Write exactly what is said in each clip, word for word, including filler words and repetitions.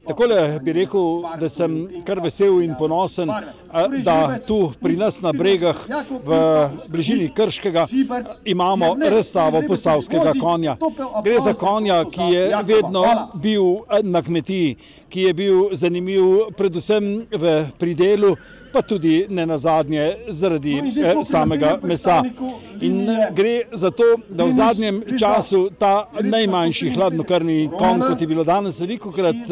Takole bi rekel, da sem kar vesel in ponosen, da tu pri nas na Bregah v bližini Krškega imamo razstavo posavskega konja. Gre za konja, ki je vedno bil na kmetiji, ki je bil zanimiv predvsem v pridelu, pa tudi ne nazadnje zaradi samega mesa. In gre za to, da v zadnjem času ta najmanjši hladnokrvni konj, kot je bilo danes velikokrat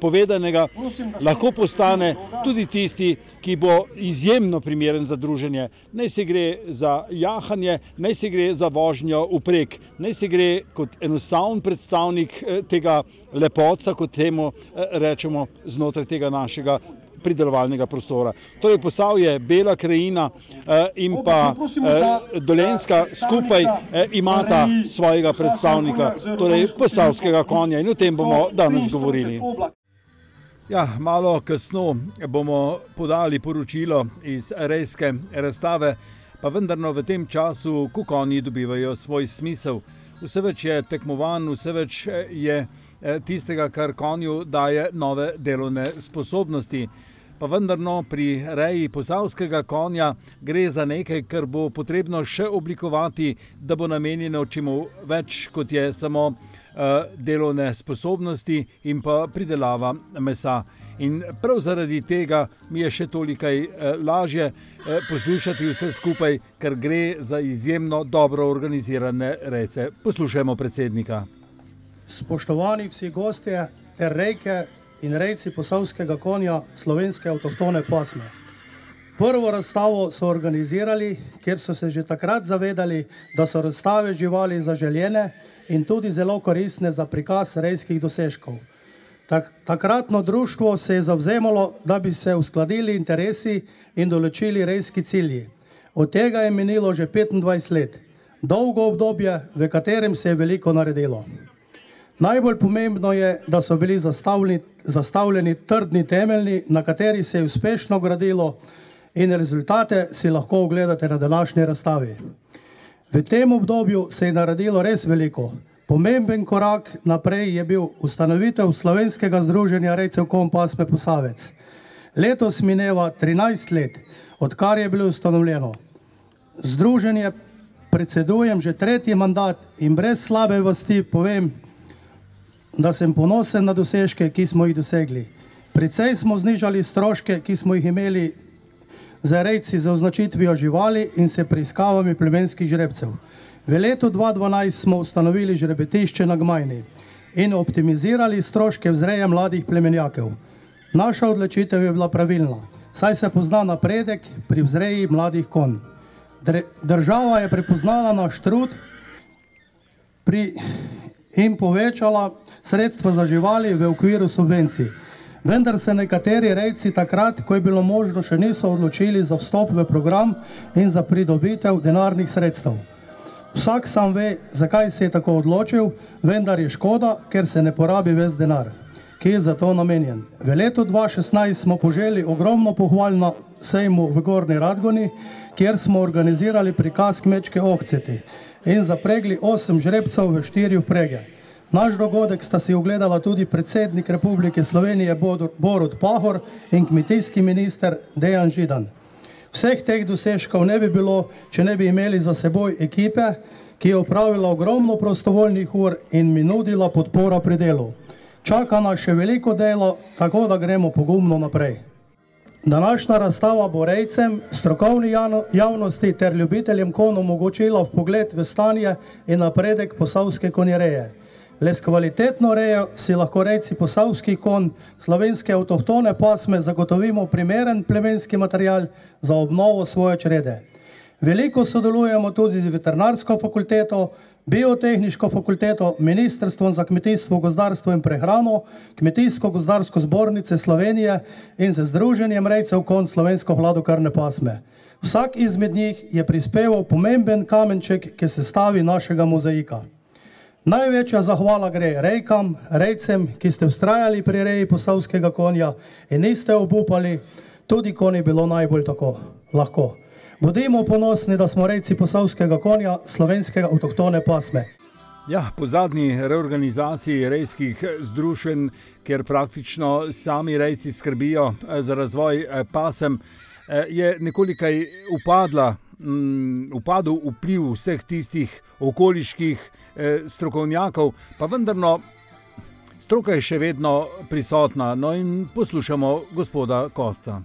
povedanega, lahko postane tudi tisti, ki bo izjemno primeren za druženje. Naj se gre za jahanje, naj se gre za vožnjo vprek, naj se gre kot enostaven predstavnik tega lepotca, kot temu rečemo, znotraj tega našega pridelovalnega prostora. Torej Posavje, Bela krajina in pa Dolenjska skupaj imata svojega predstavnika, torej posavskega konja, in o tem bomo danes govorili. Ja, malo kasno bomo podali poročilo iz rejske razstave, pa vendarno v tem času, ko konji dobivajo svoj smisel. Vse več je tekmovanj, vse več je tistega, kar konju daje nove delovne sposobnosti. Pa vendarno pri reji posavskega konja gre za nekaj, kar bo potrebno še oblikovati, da bo namenjeno čemu več, kot je samo delovne sposobnosti in pa pridelava mesa. In prav zaradi tega mi je še tolikaj lažje poslušati vse skupaj, ker gre za izjemno dobro organizirane rejce. Poslušajmo predsednika. Spoštovani vsi gostje ter rejke in rejci posavskega konja slovenske avtohtone pasme. Prvo razstavo so organizirali, kjer so se že takrat zavedali, da so razstave živali zaželjene in tudi zelo koristne za prikaz rejskih dosežkov. Tak, takratno društvo se je zavzemalo, da bi se uskladili interesi in določili rejski cilji. Od tega je minilo že petindvajset let. Dolgo obdobje, v katerem se je veliko naredilo. Najbolj pomembno je, da so bili zastavljeni, zastavljeni trdni temelji, na kateri se je uspešno gradilo, in rezultate si lahko ogledate na današnji razstavi. V tem obdobju se je naredilo res veliko. Pomemben korak naprej je bil ustanovitev Slovenskega združenja rejcev konj pasme Posavec. Letos mineva trinajst let, odkar je bilo ustanovljeno. Združenje predsedujem že tretji mandat in brez slabe vesti povem, da sem ponosen na dosežke, ki smo jih dosegli. Precej smo znižali stroške, ki smo jih imeli za rejci z označitvijo živali in s preiskavami plemenskih žrebcev. V letu dva tisoč dvanajst smo ustanovili žrebetišče na Gmajni in optimizirali stroške vzreje mladih plemenjakev. Naša odločitev je bila pravilna, saj se pozna napredek pri vzreji mladih konj. Država je prepoznala naš trud pri in povečala sredstva za živali v okviru subvencij. Vendar se nekateri rejci takrat, ko je bilo možno, še niso odločili za vstop v program in za pridobitev denarnih sredstev. Vsak sam ve, zakaj se je tako odločil, vendar je škoda, ker se ne porabi ves denar, ki je za to namenjen. V letu dva tisoč šestnajst smo poželi ogromno pohval na sejmu v Gornji Radgoni, kjer smo organizirali prikaz kmečke ohceti in zapregli osem žrebcev v štiri vprege. Naš dogodek sta si ogledala tudi predsednik Republike Slovenije Borut Pahor in kmetijski minister Dejan Židan. Vseh teh dosežkov ne bi bilo, če ne bi imeli za seboj ekipe, ki je opravila ogromno prostovoljnih ur in mi nudila podporo pri delu. Čaka nas še veliko delo, tako da gremo pogumno naprej. Današnja razstava bo rejcem, strokovni javnosti ter ljubiteljem konj omogočila vpogled v stanje in napredek posavske konjereje. Le s kvalitetno rejo si lahko rejci posavskih konj slovenske avtohtone pasme zagotovimo primeren plemenski material za obnovo svoje črede. Veliko sodelujemo tudi z veterinarsko fakulteto, biotehniško fakulteto, Ministrstvom za kmetijstvo, gozdarstvo in prehrano, Kmetijsko-gozdarsko zbornice Slovenije in z Združenjem rejcev konj slovensko hladnokrvne pasme. Vsak izmed njih je prispeval pomemben kamenček k sestavi našega mozaika. Največja zahvala gre rejkam, rejcem, ki ste vztrajali pri reji posavskega konja in niste obupali, tudi ko ni bilo najbolj tako lahko. Bodimo ponosni, da smo rejci posavskega konja slovenskega avtohtone pasme. Ja, po zadnji reorganizaciji rejskih združenj, kjer praktično sami rejci skrbijo za razvoj pasem, je nekoliko upadla, upadel vpliv vseh tistih okoliških strokovnjakov, pa vendarno stroka je še vedno prisotna. No in poslušamo gospoda Kosca.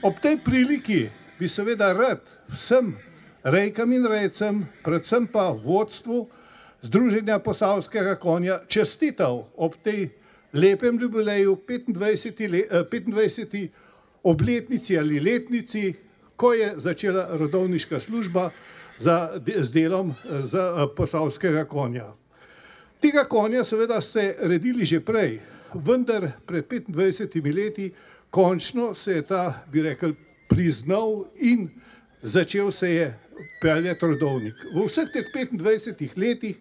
Ob tej priliki bi seveda rad vsem rejkam in rejcem, predvsem pa vodstvu Združenja posavskega konja čestital ob tej lepem jubileju petindvajseti obletnici ali letnici, ko je začela rodovniška služba za, z delom za posavskega konja. Tega konja seveda ste redili že prej, vendar pred petindvajsetimi leti končno se je ta, bi rekel, priznal in začel se je peljati rodovnik. V vseh teh petindvajsetih letih,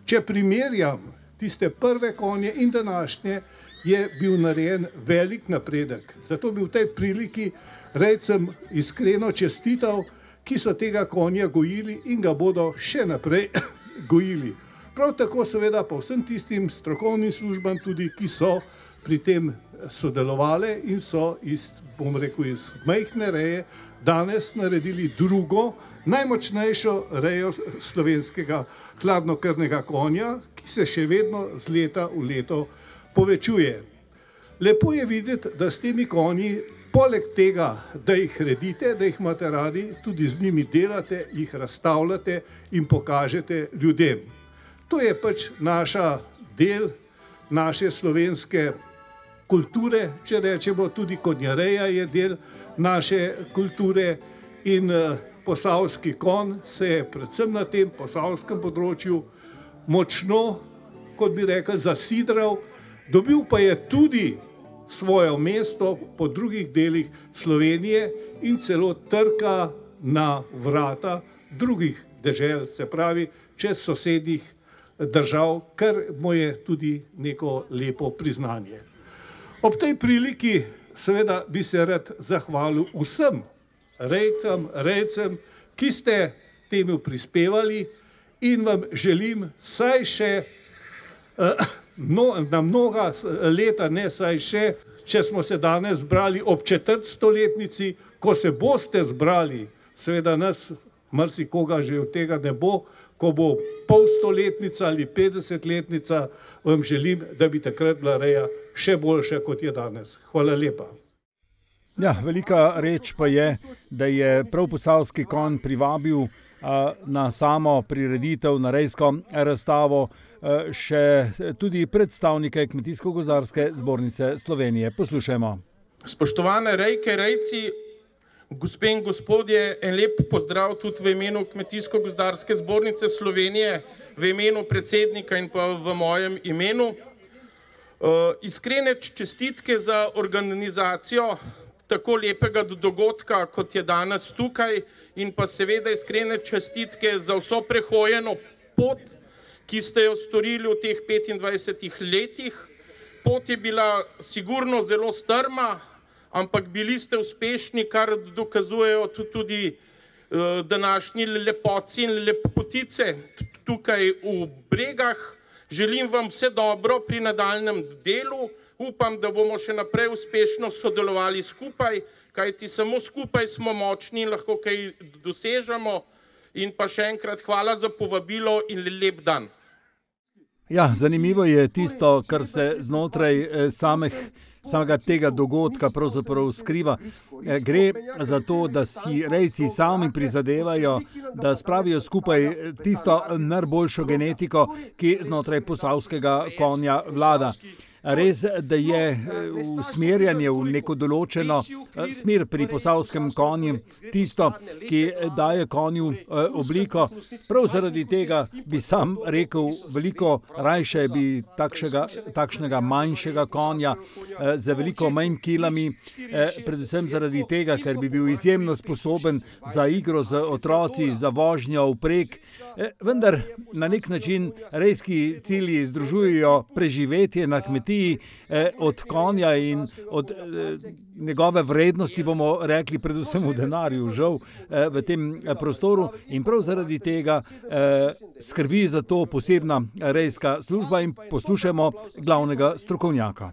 če primerjam tiste prve konje in današnje, je bil narejen velik napredek. Zato bi v tej priliki rejcem iskreno čestital, ki so tega konja gojili in ga bodo še naprej gojili. Prav tako seveda pa vsem tistim strokovnim službam tudi, ki so pri tem sodelovali in so iz, bom rekel, iz majhne reje danes naredili drugo, najmočnejšo rejo slovenskega hladnokrvnega konja, ki se še vedno z leta v leto povečuje. Lepo je videti, da s temi konji, poleg tega, da jih redite, da jih imate radi, tudi z njimi delate, jih razstavljate in pokažete ljudem. To je pač naša del naše slovenske kulture, če rečemo, tudi konjareja je del naše kulture in posavski konj se je predvsem na tem posavskem področju močno, kot bi rekel, zasidral, dobil pa je tudi svoje mesto po drugih delih Slovenije in celo trka na vrata drugih dežel, se pravi, čez sosednjih držav, kar mu je tudi neko lepo priznanje. Ob tej priliki seveda bi se rad zahvalil vsem rejcem, rejcem, ki ste temu prispevali in vam želim saj še no, na mnoga leta, ne saj še, če smo se danes zbrali ob četrtstoletnici, ko se boste zbrali, seveda nas marsikoga že od tega ne bo, ko bo polstoletnica ali petdesetletnica, vam želim, da bi takrat bila reja še boljša, kot je danes. Hvala lepa. Ja, velika reč pa je, da je prav posavski konj privabil a, na samo prireditev, na rejsko razstavo a, še tudi predstavnike Kmetijsko-gozdarske zbornice Slovenije. Poslušajmo. Spoštovane rejke, rejci, gospe in gospodje, en lep pozdrav tudi v imenu Kmetijsko-gozdarske zbornice Slovenije, v imenu predsednika in pa v mojem imenu. Uh, iskrene čestitke za organizacijo tako lepega dogodka, kot je danes tukaj, in pa seveda iskrene čestitke za vso prehojeno pot, ki ste jo storili v teh petindvajsetih letih. Pot je bila sigurno zelo strma, ampak bili ste uspešni, kar dokazujejo tudi uh, današnji lepotci in lepotice tukaj v Bregah. Želim vam vse dobro pri nadaljnjem delu. Upam, da bomo še naprej uspešno sodelovali skupaj, kajti samo skupaj smo močni in lahko kaj dosežemo. In pa še enkrat hvala za povabilo in lep dan. Ja, zanimivo je tisto, kar se znotraj samih, samega tega dogodka pravzaprav skriva. Gre za to, da si rejci sami prizadevajo, da spravijo skupaj tisto najboljšo genetiko, ki znotraj posavskega konja vlada. Res, da je usmerjanje v neko določeno smer pri posavskem konju tisto, ki daje konju obliko. Prav zaradi tega bi sam rekel, veliko rajše bi takšnega, takšnega manjšega konja z veliko manj kilami, predvsem zaradi tega, ker bi bil izjemno sposoben za igro z otroci, za vožnjo vprek. Vendar na nek način rejski cilji združujejo preživetje na kmetiji simpatiji od konja in od njegove vrednosti, bomo rekli, predvsem v denarju, žal, v tem prostoru, in prav zaradi tega skrbi za to posebna rejska služba in poslušajmo glavnega strokovnjaka.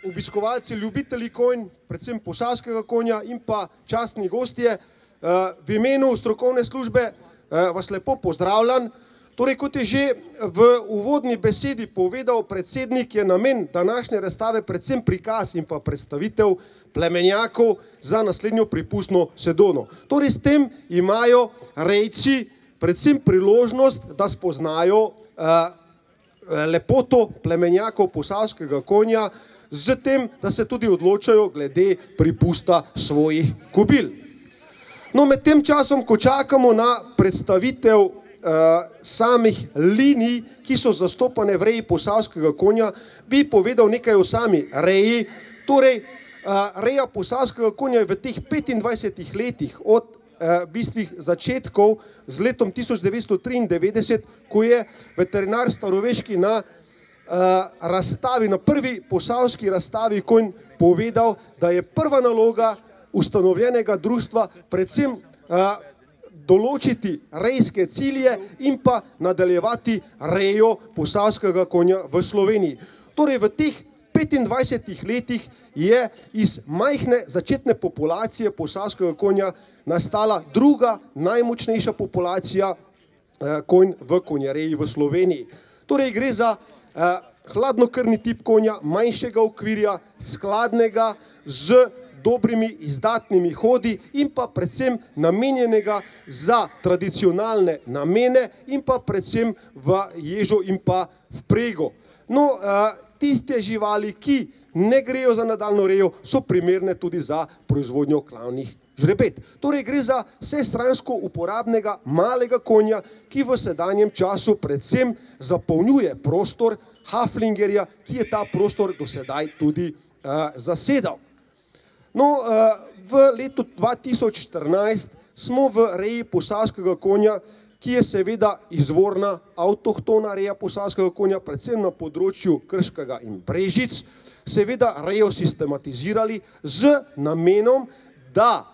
Obiskovalci, ljubitelji konj, predvsem posavskega konja in pa častni gostje, v imenu strokovne službe vas lepo pozdravljam. Torej, kot je že v uvodni besedi povedal predsednik, je namen današnje razstave predvsem prikaz in pa predstavitev plemenjakov za naslednjo pripustno sezono. Torej, s tem imajo rejci predvsem priložnost, da spoznajo lepoto plemenjakov posavskega konja, z tem, da se tudi odločajo glede pripusta svojih kobil. No, med tem časom, ko čakamo na predstavitev samih linij, ki so zastopane v reji posavskega konja, bi povedal nekaj o sami reji. Torej, reja posavskega konja je v teh petindvajsetih letih od bistvih začetkov z letom tisoč devetsto triindevetdeset, ko je veterinar Staroveški na razstavi, na prvi posavski razstavi konj povedal, da je prva naloga ustanovljenega društva predvsem določiti rejske cilje in pa nadaljevati rejo posavskega konja v Sloveniji. Torej, v teh petindvajsetih letih je iz majhne začetne populacije posavskega konja nastala druga najmočnejša populacija konj v konjereji v Sloveniji. Torej, gre za hladnokrvni tip konja, manjšega okvirja, skladnega, z dobrimi izdatnimi hodi in pa predvsem namenjenega za tradicionalne namene in pa predvsem v ježo in pa vprego. No, tiste živali, ki ne grejo za nadaljno rejo, so primerne tudi za proizvodnjo klavnih žrebet. Torej, gre za vsestransko uporabnega malega konja, ki v sedanjem času predvsem zapolnjuje prostor haflingerja, ki je ta prostor do sedaj tudi zasedal. No, v letu dva tisoč štirinajst smo v reji posavskega konja, ki je seveda izvorna avtohtona reja posavskega konja, predvsem na področju Krškega in Brežic, seveda rejo sistematizirali z namenom, da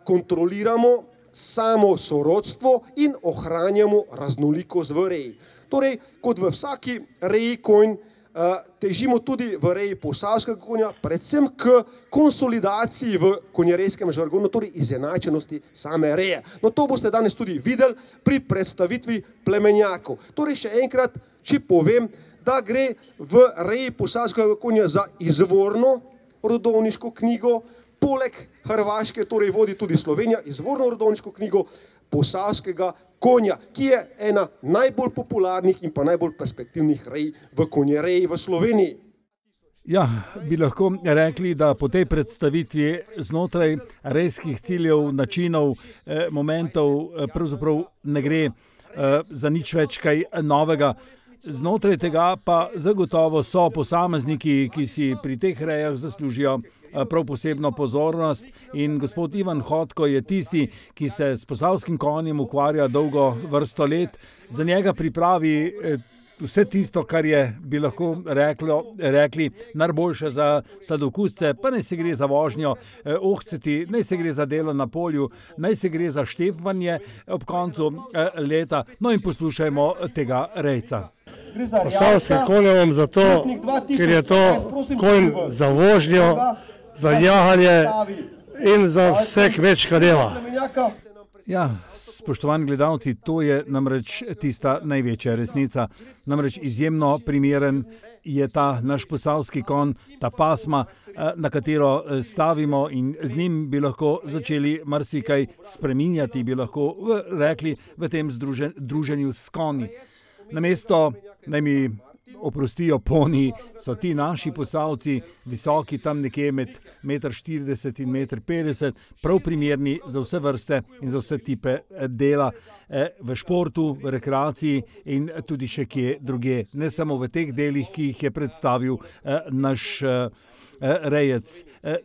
kontroliramo samo sorodstvo in ohranjamo raznolikost v reji. Torej, kot v vsaki reji konj, težimo tudi v reji posavskega konja, predvsem k konsolidaciji v konjerejskem žargonu, torej izenačenosti same reje. No, to boste danes tudi videli pri predstavitvi plemenjakov. Torej, še enkrat, če povem, da gre v reji posavskega konja za izvorno rodovniško knjigo, poleg Hrvaške, torej vodi tudi Slovenija izvorno rodovniško knjigo posavskega konja, ki je ena najbolj popularnih in pa najbolj perspektivnih rej v konjereji v Sloveniji. Ja, bi lahko rekli, da po tej predstavitvi znotraj rejskih ciljev, načinov, momentov pravzaprav ne gre za nič več kaj novega. Znotraj tega pa zagotovo so posamezniki, ki si pri teh rejah zaslužijo prav posebno pozornost, in gospod Ivan Hotko je tisti, ki se s posavskim konjem ukvarja dolgo vrsto let. Za njega pripravi vse tisto, kar je, bi lahko reklo, rekli, najboljše za sladokusce, pa naj se gre za vožnjo ohceti, naj se gre za delo na polju, naj se gre za štefanje ob koncu leta. No in poslušajmo tega rejca. Posavski konj imam zato, ker je to konj za vožnjo, za jahanje in za vse kmečka dela. Ja, spoštovani gledalci, to je namreč tista največja resnica. Namreč izjemno primeren je ta naš posavski konj, ta pasma, na katero stavimo, in z njim bi lahko začeli marsikaj spreminjati, bi lahko rekli, v tem druženju s konji. Namesto, naj mi oprostijo poni, so ti naši posavci visoki tam nekje med meter štirideset in meter petdeset, prav primerni za vse vrste in za vse tipe dela v športu, v rekreaciji in tudi še kje druge. Ne samo v teh delih, ki jih je predstavil naš rejec.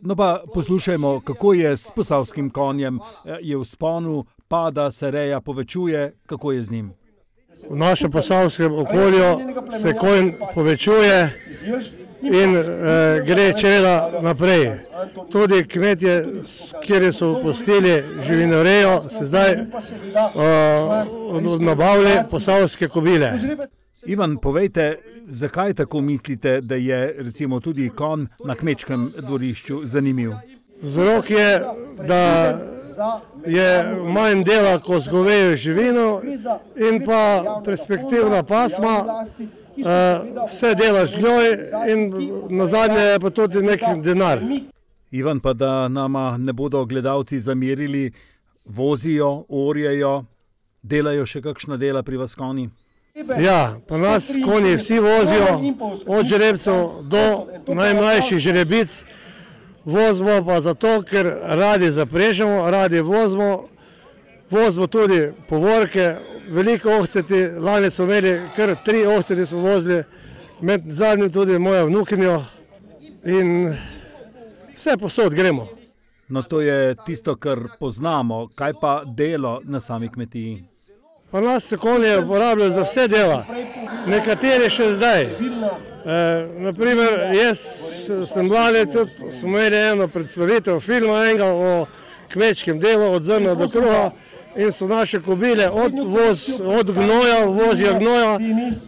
No pa poslušajmo, kako je s posavskim konjem, je v vzponu, pada, se reja povečuje, kako je z njim. V našem posavskem okolju se konj povečuje in eh, gre čreda naprej. Tudi kmetje, kjer so opustili živinorejo, se zdaj eh, nabavili posavske kobile. Ivan, povejte, zakaj tako mislite, da je recimo tudi konj na kmečkem dvorišču zanimiv? Vzrok je, da je manj dela, ko z govejo živino in pa perspektivna pasma, vse delaš z njoj in nazadnje je pa tudi nek denar. Ivan, pa da nama ne bodo gledalci zamerili, vozijo, orjejo, delajo še kakšna dela pri vas konji? Ja, pa nas konji vsi vozijo, od žrebcev do najmlajših žrebic. Vozimo pa zato, ker radi zaprežemo, radi vozimo, vozimo tudi povorke, veliko ohceti, lani smo imeli kar tri ohceti smo vozili, med zadnjim tudi mojo vnukinjo in vse posod gremo. No, to je tisto, kar poznamo. Kaj pa delo na sami kmetiji? Pa nas se konje uporabljajo za vse dela, nekateri še zdaj. E, naprimer, jaz sem mladi, tudi smo imeli eno predstavitev filma enega o kmečkem delu, od zrna do kruha in so naše kobile od, voz, od gnoja, vozja gnoja,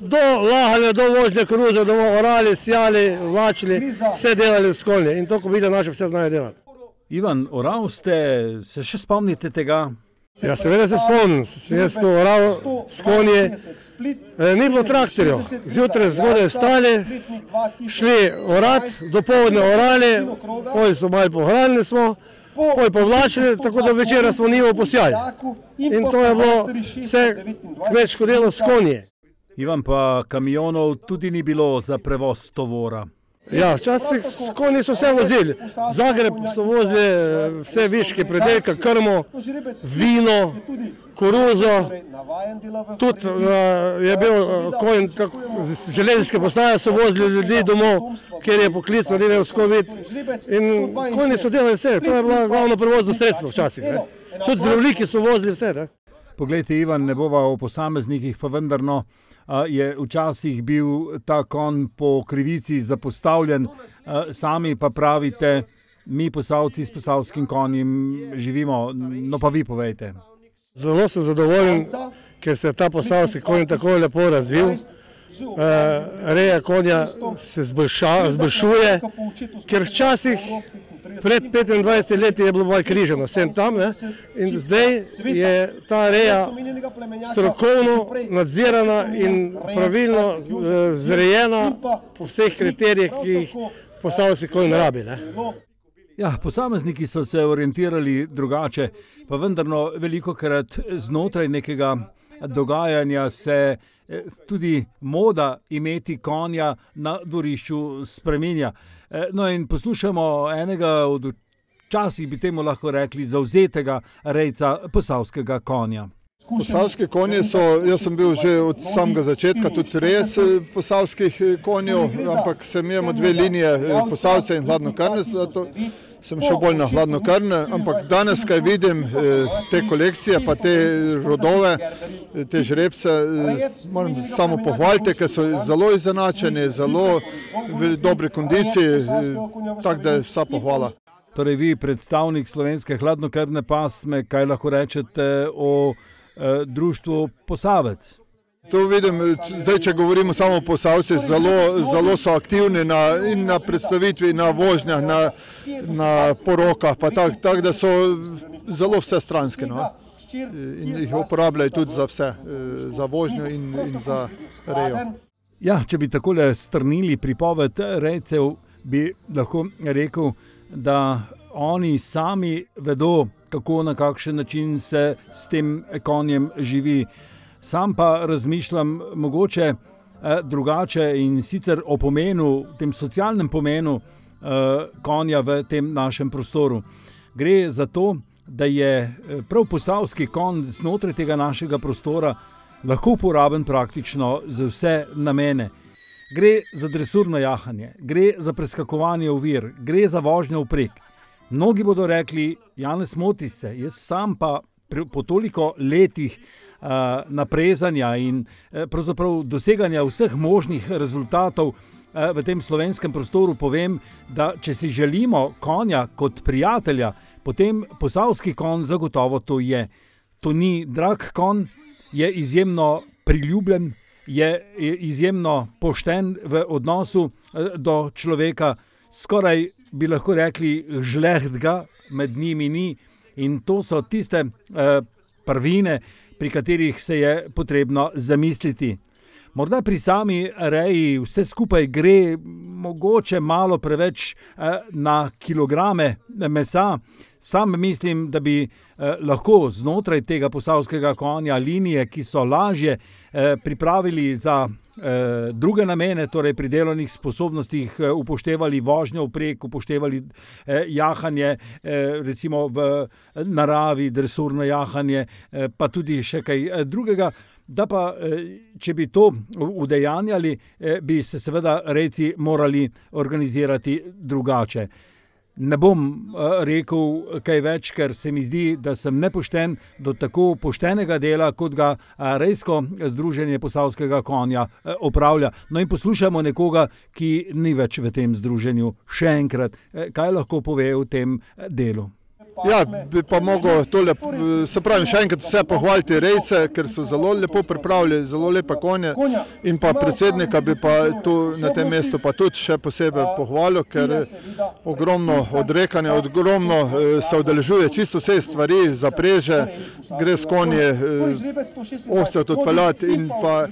do lahanja, do vožnje koruze, do orali, sjali, vlačili, vse delali s konje in to kobile naše vse znajo delati. Ivan, oral ste, se še spomnite tega? Ja, seveda se spomnim, sem jaz to oral s konji, e, ni bilo traktorjev, zjutraj zgodaj vstali, šli orat, dopoldne orali, poj so malo pohranili smo, poj povlačili, tako da večera smo njivo posjali. In to je bilo vse kmečko delo s konji. Ivan, pa kamionov tudi ni bilo za prevoz tovora? Ja, včasih s konji so vse vozili. V Zagreb so vozili vse viške predelke, krmo, vino, koruzo. Tudi je bil konj, z železniške postaje so vozili ljudi domov, kjer je poklic, da ne vsko vid. In konji so delali vse, to je bilo glavno prevozno sredstvo včasih. Ne. Tudi zdravniki so vozili vse. Ne. Poglejte, Ivan, ne bova o posameznikih, pa vendar no, je včasih bil ta konj po krivici zapostavljen, sami pa pravite, mi Posavci s posavskim konjem živimo, no pa vi povejte. Zelo sem zadovoljen, ker se je ta posavski konj tako lepo razvil. Reja konja se zboljšuje, ker včasih pred petindvajsetimi leti je bilo malo križano, vsem tam, ne? In zdaj je ta reja strokovno nadzirana in pravilno zrejena po vseh kriterijih, ki jih posavski konj rabi. Ne? Ja, posamezniki so se orientirali drugače, pa vendarno velikokrat znotraj nekega dogajanja se tudi moda imeti konja na dvorišču spreminja. No in poslušamo enega od včasih bi temu lahko rekli zavzetega rejca posavskega konja. Posavski konji so, jaz sem bil že od samega začetka tudi rejec posavskih konjev, ampak sem imel dve linije, posavce in hladnokrvne, zato sem šel bolj na hladnokrvne, ampak danes, kaj vidim te kolekcije, pa te rodove, te žrebce, moram samo pohvaliti, ker so zelo izenačeni, zelo v dobri kondiciji, tako da je vsa pohvala. Torej vi, predstavnik slovenske hladnokrvne pasme, kaj lahko rečete o eh, društvu Posavec? To vidim, zdaj, če govorimo samo o Posavci, zelo, zelo so aktivni na, in na predstavitvi, na vožnjah, na, na porokah, pa tako, tak, da so zelo vsestranski. No? In jih uporabljajo tudi za vse, za vožnjo in, in za rejo. Ja, če bi takole strnili pripoved rejcev, bi lahko rekel, da oni sami vedo, kako na kakšen način se s tem konjem živi. Sam pa razmišljam mogoče eh, drugače in sicer o pomenu, tem socialnem pomenu eh, konja v tem našem prostoru. Gre za to, da je prav posavski konj znotraj tega našega prostora lahko uporaben praktično za vse namene. Gre za dresurno jahanje, gre za preskakovanje ovir, gre za vožnjo vprek. Mnogi bodo rekli, Janez, moti se, jaz sam pa po toliko letih uh, naprezanja in uh, pravzaprav doseganja vseh možnih rezultatov v tem slovenskem prostoru povem, da če si želimo konja kot prijatelja, potem posavski konj zagotovo to je. To ni drag konj, je izjemno priljubljen, je izjemno pošten v odnosu do človeka, skoraj bi lahko rekli žlehtga med njimi ni, in to so tiste prvine, pri katerih se je potrebno zamisliti. Morda pri sami reji vse skupaj gre mogoče malo preveč na kilograme mesa. Sam mislim, da bi lahko znotraj tega posavskega konja linije, ki so lažje, pripravili za druge namene, torej pri delovnih sposobnostih upoštevali vožnjo vprek, upoštevali jahanje, recimo v naravi, dresurno jahanje, pa tudi še kaj drugega. Da pa, če bi to udejanjali, bi se seveda rejci morali organizirati drugače. Ne bom rekel kaj več, ker se mi zdi, da sem nepošten do tako poštenega dela, kot ga Rejsko združenje posavskega konja opravlja. No in poslušamo nekoga, ki ni več v tem združenju. Še enkrat, kaj lahko pove o tem delu? Ja, bi pa mogel tole, se pravim, še enkrat vse pohvaliti rejce, ker so zelo lepo pripravili, zelo lepe konje, in pa predsednika bi pa tu na tem mestu pa tudi še posebej pohvalil, ker ogromno odrekanja, ogromno se udeležuje čisto vse stvari, zapreže, gre s konje, ovce odpeljati in pa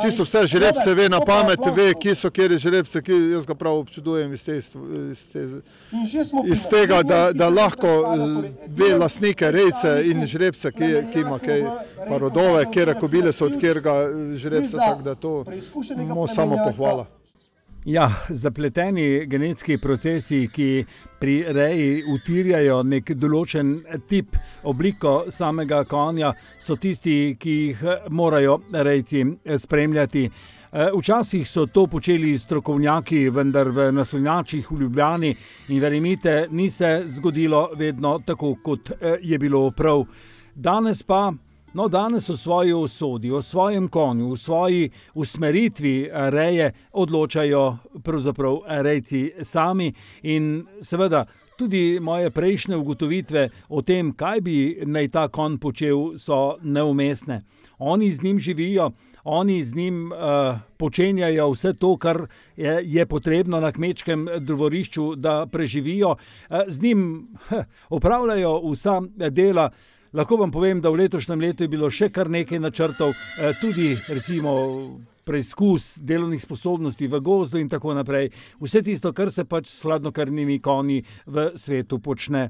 čisto vse žrebce ve na pamet, ve, ki so kjeri žrebce, ki jaz ga prav občudujem iz, te, iz, te, iz tega, da, da lahko ve lastnike rejce in žrebce, ki, ki ima kaj pa rodove, kjere kobile so od kjerega žrebce, tako da to mu samo pohvala. Ja, zapleteni genetski procesi, ki pri reji utirjajo nek določen tip, obliko samega konja, so tisti, ki jih morajo rejci spremljati. Včasih so to počeli strokovnjaki, vendar v naslonjačih v Ljubljani, in verjemite, ni se zgodilo vedno tako, kot je bilo prav. Danes pa No, danes o svoji usodi, o svojem konju, o svoji usmeritvi reje odločajo pravzaprav rejci sami, in seveda tudi moje prejšnje ugotovitve o tem, kaj bi naj ta konj počel, so neumestne. Oni z njim živijo, oni z njim uh, počenjajo vse to, kar je, je potrebno na kmečkem dvorišču, da preživijo. Uh, z njim uh, opravljajo vsa dela. Lahko vam povem, da v letošnjem letu je bilo še kar nekaj načrtov, tudi recimo preizkus delovnih sposobnosti v gozdu in tako naprej. Vse tisto, kar se pač s hladnokrvnimi konji v svetu počne.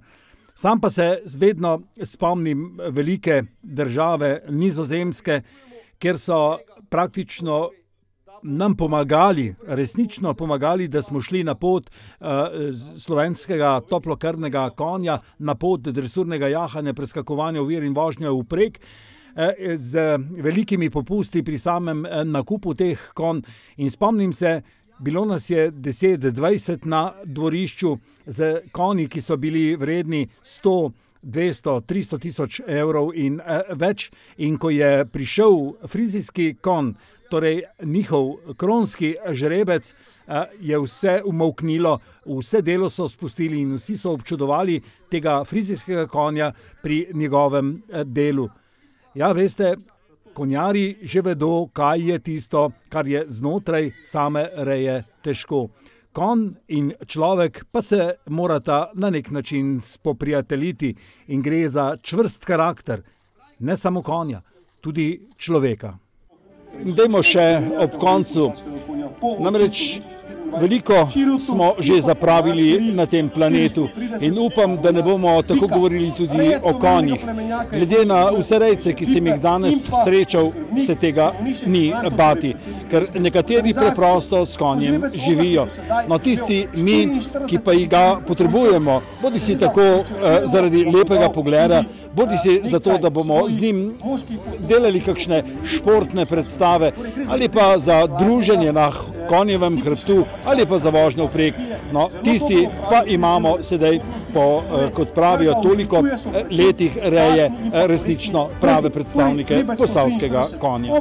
Sam pa se vedno spomnim velike države Nizozemske, kjer so praktično nam pomagali, resnično pomagali, da smo šli na pot uh, slovenskega toplokrvnega konja, na pot dresurnega jahanja, preskakovanja ovir in vožnje vprek, uh, z velikimi popusti pri samem uh, nakupu teh konj. In spomnim se, bilo nas je deset dvajset na dvorišču z konji, ki so bili vredni sto, dvesto, tristo tisoč evrov in uh, več. In ko je prišel frizijski konj, torej njihov kronski žrebec, je vse umolknilo, vse delo so spustili in vsi so občudovali tega frizijskega konja pri njegovem delu. Ja, veste, konjari že vedo, kaj je tisto, kar je znotraj same reje težko. Konj in človek pa se morata na nek način spoprijateljiti, in gre za čvrst karakter, ne samo konja, tudi človeka. Dajmo še ob koncu, namreč veliko smo že zapravili na tem planetu in upam, da ne bomo tako govorili tudi o konjih. Glede na vse rejce, ki sem jih danes srečal, se tega ni bati, ker nekateri preprosto s konjem živijo. No, tisti mi, ki pa jih ga potrebujemo, bodi si tako eh, zaradi lepega pogleda, bodi si zato, da bomo z njim delali kakšne športne predstave, ali pa za druženje na konjevem hrbtu, ali pa za vožnjo vprek. No, tisti pa imamo sedaj po, kot pravijo, toliko letih reje resnično prave predstavnike posavskega konja.